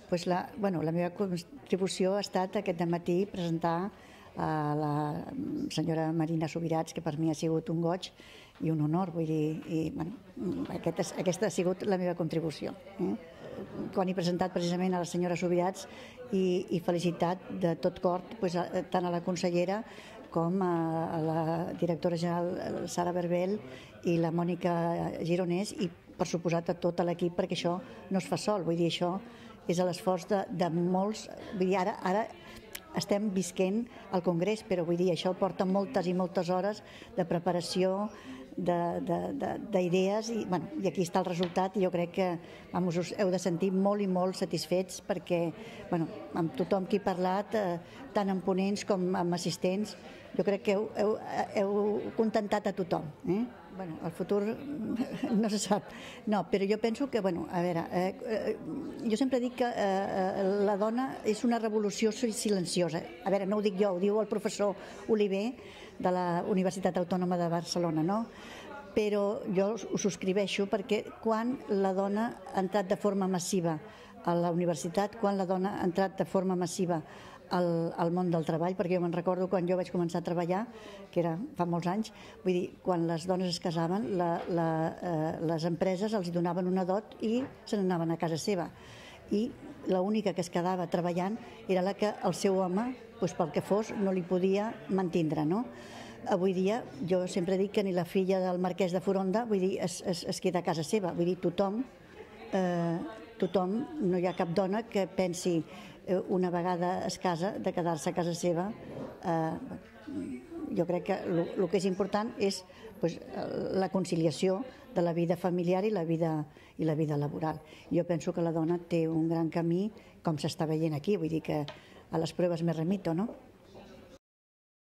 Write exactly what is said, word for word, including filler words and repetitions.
Pues la, bueno, la meva contribució ha estat aquest dematí presentar a la senyora Marina Subirats, que per mi ha sigut un goig i un honor, vull dir, i, bueno, aquest, aquesta ha sigut la meva contribució. Eh? Quan he presentat precisament a la senyora Subirats i, i felicitat de tot cor pues, tant a la consellera com a la directora general Sara Berbel i la Mònica Gironès i per suposat a tot l'equip, perquè això no es fa sol, vull dir, això és l'esforç de, de molts, vull dir, ara, ara estem visquent al Congrés, però vull dir, això porta moltes i moltes hores de preparació, d'idees, i, bueno, i aquí està el resultat, i jo crec que vamos, us heu de sentir molt i molt satisfets perquè bueno, amb tothom qui he parlat, eh, tant amb ponents com amb assistents, jo crec que heu, heu, heu contentat a tothom. Eh? Bueno, el futur no se sap. No, però jo penso que, bueno, a veure, eh, eh, jo sempre dic que eh, la dona és una revolució silenciosa. A veure, no ho dic jo, ho diu el professor Oliver de la Universitat Autònoma de Barcelona, no? Però jo ho subscriveixo perquè quan la dona ha entrat de forma massiva a la universitat, quan la dona ha entrat de forma massiva al, al món del treball, perquè jo me'n recordo quan jo vaig començar a treballar, que era fa molts anys, vull dir, quan les dones es casaven, la, la, eh, les empreses els donaven una dot i se n'anaven a casa seva. I l'única que es quedava treballant era la que el seu home, doncs pel que fos, no li podia mantindre, no? Avui dia, jo sempre dic que ni la filla del marquès de Foronda, vull dir, es, es, es queda a casa seva, vull dir, tothom, eh, tothom, no hi ha cap dona que pensi eh, una vegada es casa de quedar-se a casa seva. Eh, jo crec que el que és important és pues, la conciliació de la vida familiar i la vida, i la vida laboral. Jo penso que la dona té un gran camí, com s'està veient aquí, vull dir que a les proves me remito, no?